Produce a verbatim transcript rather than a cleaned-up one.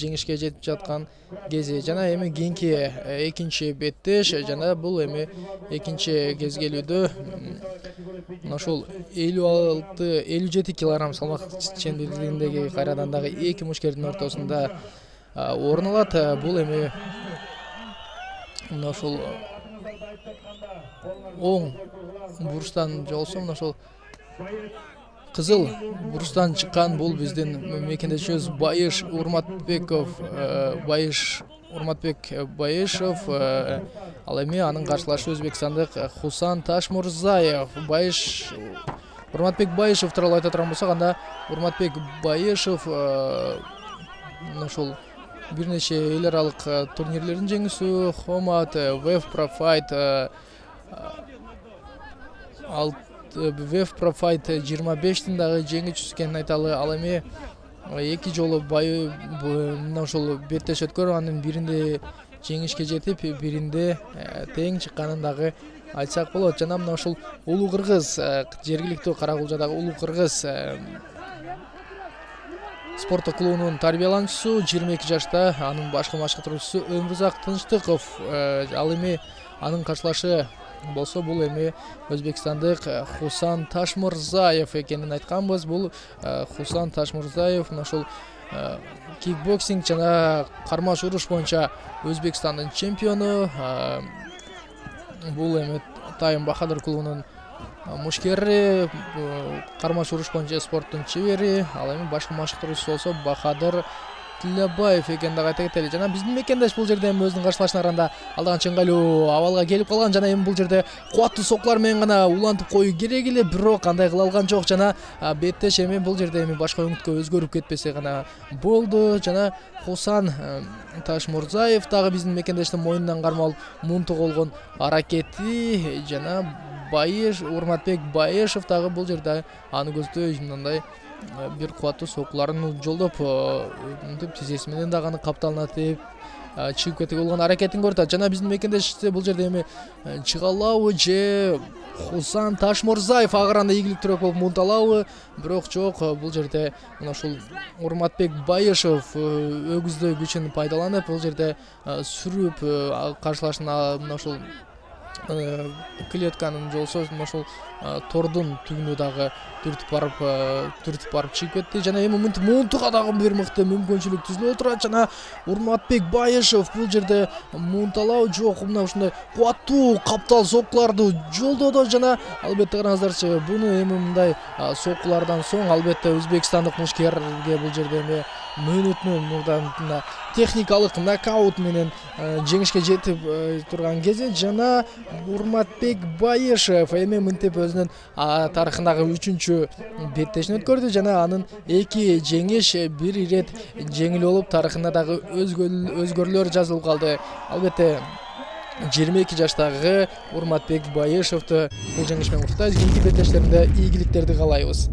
жеңишке жетип жаткан кези жана эми кийинки экинчи беттеш жана бул эми экинчи кезгелүүдө мына ушул элүү алты элүү жети килограмм салмак чендүүлүгүндөгү кайрадан дагы эки мушкердин ортосунда орун алат. Бул эми мына ушул оң бурчтан жолсо мына ушул кызыл бурчтан чыккан бул биздин мекендешибиз Байыш Урматбеков Байыш Урматбек Байышев. Ал эми анын каршылашы өзбекстандык Хусан Ташмурзаев. Байыш Урматбек Байышев тууралуу айта турган болсок, анда Урматбек Байышев мына ушул бир нече эл аралык турнирлердин жеңүүсү, Хомат, Вев Профайт, ал Вев Профайт жыйырма бештин дагы жеңүүчүсү экенин айталы. Ал эми эки жолу бай мына ушул беттеш өткөрүп, анын биринде жеңишке жетип, биринде тең чыкканын дагы айтсак болот. Жана мына ушул Улуу Кыргыз, жергиликтүү Каракулжадагы Улуу Кыргыз спорттук клубунун тарбиялануучусу, жыйырма эки жашта, анын башкы машыктыруучусу Өмүрзак Тынчтыков. Ал эми анын каршылашы болсо бул эми өзбекстандык Хусан Ташмурзаев экенин айтканбыз. Бул Хусан Ташмурзаев мына ушул кикбоксинг жана кармаш уруш боюнча Өзбекстандын чемпиону. Бул эми Тайым Бахадыр клубунун мушкери, кармаш уруш боюнча спорттун чебери. Ал эми башкы машыктыруучусу болсо Бахадыр Тилебаев экенин дагы айта кетели. Жана биздин мекендеш бул жерде эми өзүнүн каршылашына караганда алдаан ыңгайлуу абалга келип калган жана эми бул жерде кубаттуу сокулар менен гана улантып коюу керек эле, бирок андай кыла алган жок. Жана беттеш эми бул жерде эми башка өңүткө өзгөрүп кетпесе гана болду. Жана Хусан Ташмурзаев дагы биздин мекендештин моюнунан кармалып мунтук болгон аракети жана Байыш Урматбек Байышев дагы бул жерде аны көздөй мындай бир кубаттуу сокуларын жолдоп, мынтип тизеси менен дагы аны капталынатып чыгып кетип болгон аракетин көрүп атат. Жана биздин мекендеш бул жерде эми чыга алабы же Хусан Ташмурзаев агыранда ийгиликтүүрөөк болуп мунталабы, бирок жок, бул жерде мына ушул Урматбек Байышев өгүздөй күчүн пайдаланып, бул жерде сүрүп каршылашына мына ушул клетканын жолсо мына ушул тордун түгүнү дагы түртүп барып түртүп барып чыгып кетти. Жана эми мынтип мунтуга дагы бир мыкты мүмкүнчүлүк түзүлүп отурат. Жана Урматбек Байышев бул жерде мунталабы жок, мына ушундай кубаттуу каптал сокуларды жолдоду. Жана албетте караңыздарчы, буну эми мындай сокулардан соң албетте өзбекстандык мушкерге бул жерде эми мөөнөтүнөн мурда техникалык нокаут менен жеңишке жетип турган кези. Жана Урматбек Байышев эми мынтип өзүнүн тарыхындагы үчүнчү беттешин өткөрдү жана анын эки жеңиш бир ирет жеңил болуп тарыхында дагы өзгөрүүлөр жазылып калды. Албетте жыйырма эки жаштагы Урматбек Байышевди бул жеңиш менен куттуктайбыз. Кийинки беттештеринде ийгиликтерди каалайбыз.